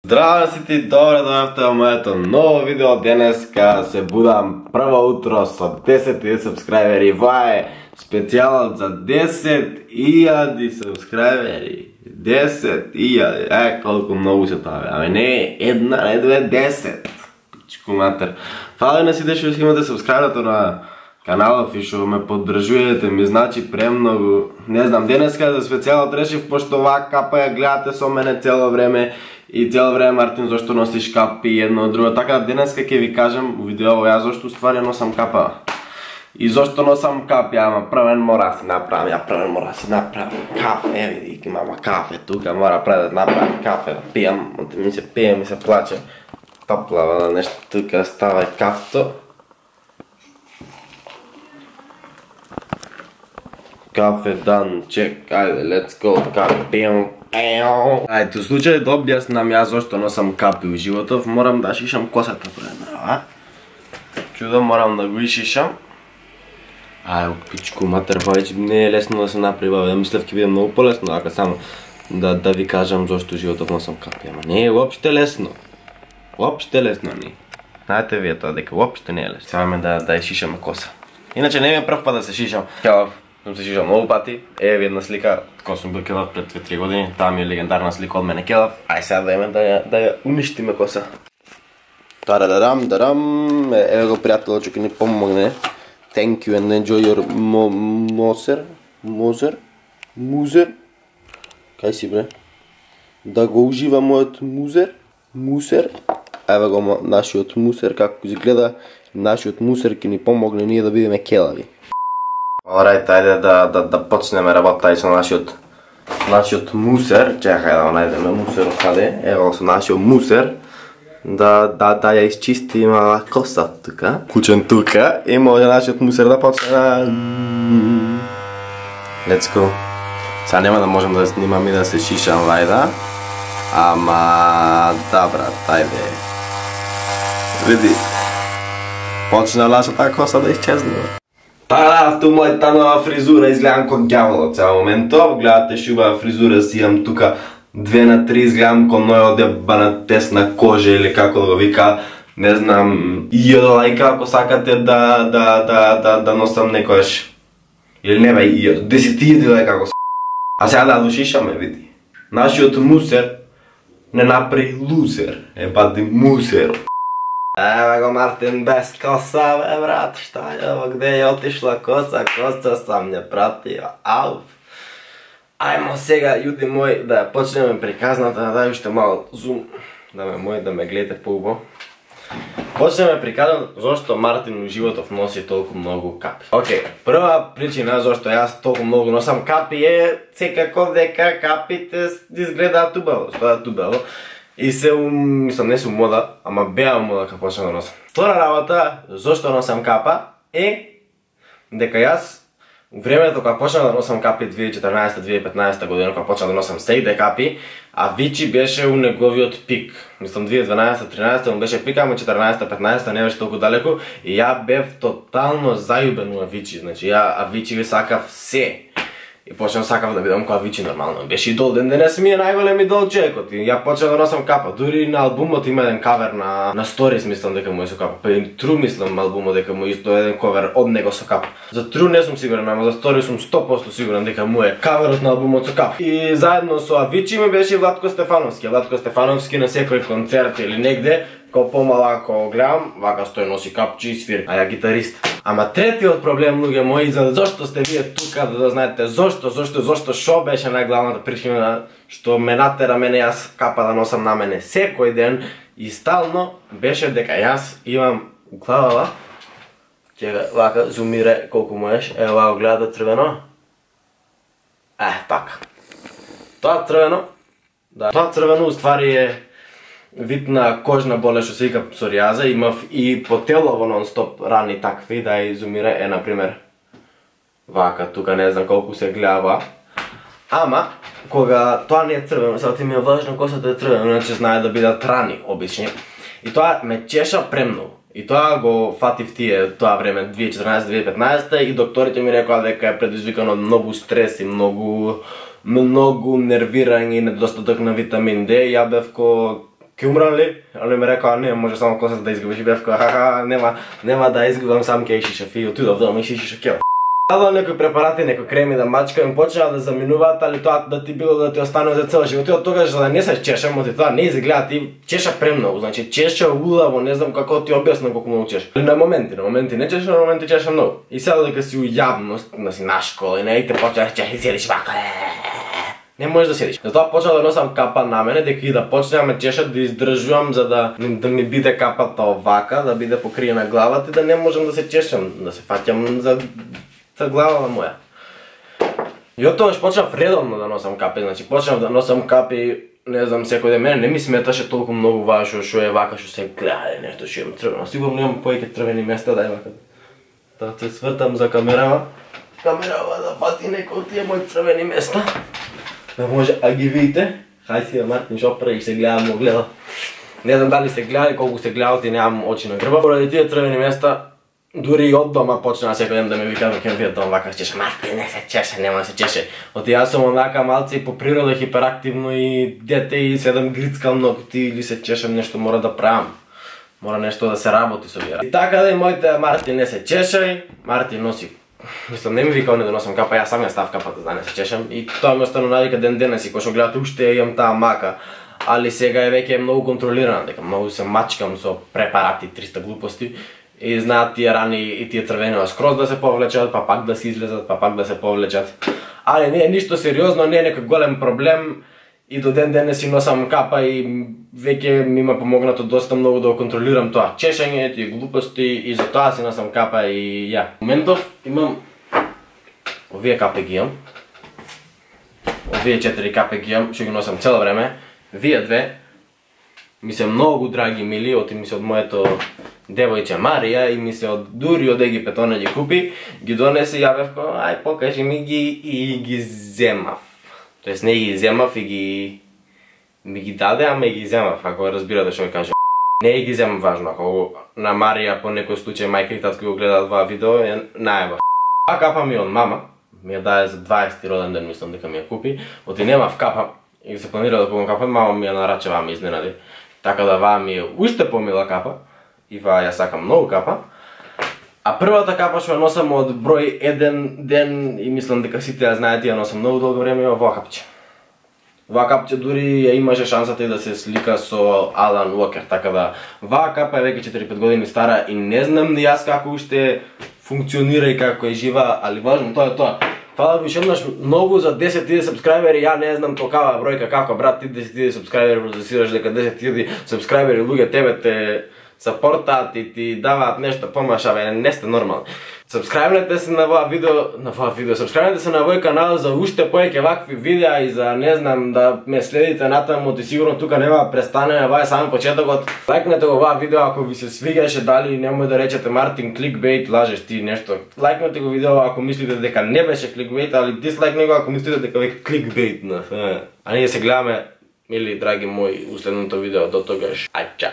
Здраво сите, добре дојавте во моето ново видео. Денеска се будам прво утро со 10.000 сабскрајбери. Ова е специјалот за 10.000 сабскрајбери. 10.000, колку многу се тоа, аме не една, не две, 10. Пичку матер. Фала на сите што имате сабскрајберато на каналов и што ме поддржувате, ми значи премногу. Не знам, денеска за специјалот решив, пошто оваа капа ја гледате со мене цело време. И цело време, Мартин, зашто носиш капи едно од друго. Така, денеска ќе ви кажам у видео ја зашто ствари носам капа. И зашто носам капи, ама првен мора си направам, кафе, види, имам кафе тука, мора пред да направам кафе, да пијам, ми се пие, ми се плаче. Топлава нешто тука, става кафто. Кафе дан, чек, ајде, let's go, кафе пијам. Ајде, у случај да објаснам ја зашто носам капи у животов, морам да шишам косата преднава. Чудо, морам да го ишишам. Ај, пичку матер, веќе не е лесно да се направи, да мислев ќе биде многу полесно, ако само да ви кажам зашто у животов носам капи, ама не е уопште лесно. Уопште лесно не. Знаете вие тоа дека уопште не е лесно. Сега ме да ја шишаме коса. Иначе не ми е прв пат да се шишам. Келав, сум се шишал многу пати. Еве една слика, кога сум бил келав пред 2-3 години, таа ми е легендарна слика од мене келав. Ај сега да име да ја уништиме коса. Тарадарам, еве го пријателот што ќе ни помогне. Thank you and enjoy your музер. Кај си бре? Да го ужива мојот мусер. Еве го нашиот мусер, како изгледа. Нашиот мусер ќе ни помогне ние да бидеме келави. Alright, ајде да почнеме работа и со нашиот мусер. Чекај да го најдеме мусерот каде. Ево со нашиот мусер. Да ја исчистиме коса тука. Кучен тука. И може нашиот мусер да почне да... Let's go. Сега нема да можем да снимам и да се шишам лајда. Ама... Да брат, ајде. Види. Почна нашата коса да исчезне. Тарафту мојата нова фризура, изгледам кон ѓаволот цел моментов. Гледате шубава фризура си имам тука 2/3, изгледам кон ној одебана тесна кожа или како да го вика. Не знам, лајка ако сакате да носам некојаш. Или не бе, 10.000 лајка ако А сега да дошишаме, види. Нашиот мусер не направи лузер, бади мусер. Еве го Мартин без коса, бе брат, шта е ово, где е отишла коса сам не пратија, ауф. Ајмо сега, јуди мој, да почнеме приказната, да дај уште мало зум, да ме гледате поубаво. Почнеме приказната зашто Мартин у животов носи толку многу капи. Океј, прва причина зашто јас толку многу носам капи е секако дека капите изгледаат убаво, стојат убаво. И се, мислам, не сум мода, ама беа мода кога почнам да носам. Втора работа, зашто носам капа, е дека јас, у времето кога почнам да носам капи 2014-2015 година, кога почнам да носам сејде капи, Авичи беше у неговиот пик. Мислам, 2012-13 му беше пик, ама 14-15 не беше толку далеко. И ја бев тотално зајубен у Авичи, значи ја Авичи ви сакав се. И почнав сакав да бидам која Авичи нормално. Беше идол, ден денес ми е најголем идол човекот. И ја почнав да носам капа. Дури на албумот има еден кавер на Stories, мислам дека му е со капа. Па и True мислам албумот дека му е исто еден кавер од него со капа. За True не сум сигурен, ама за Stories сум 100% сигурен дека му е каверот на албумот со капа. И заедно со Авичи ми беше Владко Стефановски. Владко Стефановски на секој концерт или негде, кој помалако гледам, вака стои носи капчи и свири, а ја гитарист. Ама третиот проблем, луѓе мои, за зашто сте вие тука, да знаете зашто шо беше најглавната причина што ме натера мене јас капа да носам на мене секој ден и стално беше дека јас имам главава, чека, вака зумире колку можеш, ево вака гледате црвено. Така. Тоа црвено, да, тоа црвено уствари е вид на кожна болест што се вика псоријаза, имав и по тело во нон-стоп рани такви, да изумира е, например, вака, тука не знам колку се гледа, ама, кога тоа не е црвено, сега ти ми е важно косата е црвено, иначе знае да бидат рани, обични, и тоа ме чеша премногу. И тоа го фатив тие тоа време 2014-2015 и докторите ми рекоа дека е предизвикано од многу стрес и многу нервирање и недостаток на витамин D. Ја бев ко ке умрам ли? Он ми рекоа, не, може само косата да изгубиш. Бев која, хаха, нема да изгубам, сам ке иши шафи. Отидов дома, иши шакел. Дадо некои препарати, некои креми да мачкам, почнаа да заминуваат, али тоа да ти било да ти остане за цел живот. И од тогаш да не се чешам, оти тоа не изгледа, ти чеша премногу, значи чеша улаво, не знам како ти објаснам колку многу чеш. На моменти не чеша, на моменти чеша многу. И сега дека си у јавност, си на школа и не те почнаш чеши, седиш вака. Не можеш да седиш. Затоа почнав да носам капа на мене, дека и да почнеам ме чешат да издржувам за да ми биде капата овака, да биде покриена главата и да не можам да се чешам, да се фаќам за глава моја. И од тогаш почнав редовно да носам капи, значи почнав да носам капи, не знам, секој ден. Мене не ми сметаше толку многу важно што е вака, што се гледа нешто што имам црвено. Сигурно имам повеќе црвени места, дај вака. Да се свртам за камерава. Камерава да фати некој од тие мои црвени места. Да може, а ги видите? Хај си Мартин што прави, се гледа, му гледа. Не знам дали се гледа, колку се гледа, и немам очи на грба. Поради тие црвени места, дури и од дома почна секој ден да ме вика дека ќе дом вака чеше. Мартин, не се чеше, нема да се чеше. Оти јас сум онака малце и по природа хиперактивно и дете и седам грицкам ногти или се чешам, нешто мора да правам. Мора нешто да се работи со вие. И така да и моите Мартин не се чешај, Мартин носи. Мислам, не ми вика не да носам капа, јас сам ја став капата да не се чешам и тоа ми останува навика ден денес и кога што гледате уште имам таа мака. Али сега е веќе многу контролирана, дека многу се мачкам со препарати, 300 глупости. И знаат тие рани и тие црвени скроз да се повлечат, па пак да се излезат, па пак да се повлечат. Али не е ништо сериозно, не е некој голем проблем. И до ден денес си носам капа и веќе ми има помогнато доста многу да контролирам тоа чешење, тие глупости и затоа си носам капа и ја. Моментов имам овие капи ги имам. Овие 4 капи ги имам, што ги носам цело време. Вие две ми се многу драги мили, оти ми се од моето девојче Марија и ми се од дури од Египет она ги купи, ги донесе и ја бев кој, ај покажи ми ги и ги земав. Тоест не ги земав и ми ги даде, ама и ги земав, ако разбирате што ќе кажа. Не ги земав важно, ако на Марија по некој случај мајка и татко го гледаат ова видео, е најба. Па капа ми од мама, ми ја даде за 20 роден ден, мислам дека ми ја купи, оти немав капа и се планира да купам капа, мама ми ја нарача, ваа ми изненади. Така да ваа ми е уште помила капа и ваа ја сакам многу капа. А првата капа што ја носам од број 1 ден и мислам дека сите ја знаете, ја носам многу долго време, е оваа капче. Оваа капче дури ја имаше шансата и да се слика со Алан Уокер, така да ваа капа е веќе 4-5 години стара и не знам ни јас како уште функционира и како е жива, али важно тоа е тоа. Фала ви шеднаш многу за 10.000 сабскрајбери, ја не знам толкава бројка како брат, ти 10.000 сабскрајбери засираш дека 10.000 сабскрајбери луѓе тебе те сапортаат и ти даваат нешто помаш, абе не сте нормални. Сабскрајбнете се на оваа видео, сабскрајбнете се на овој канал за уште повеќе вакви видеа и за не знам да ме следите натаму, и сигурно тука нема да престане, ова е само почетокот. Лајкнете оваа видео ако ви се свигаше, дали немој да речете Мартин кликбейт, лажеш ти нешто. Лајкнете го видео ако мислите дека не беше кликбейт, али дислајкнете го ако мислите дека е кликбейт. А ние се гледаме, мили драги мои, у следното видео. До тогаш, ај чао.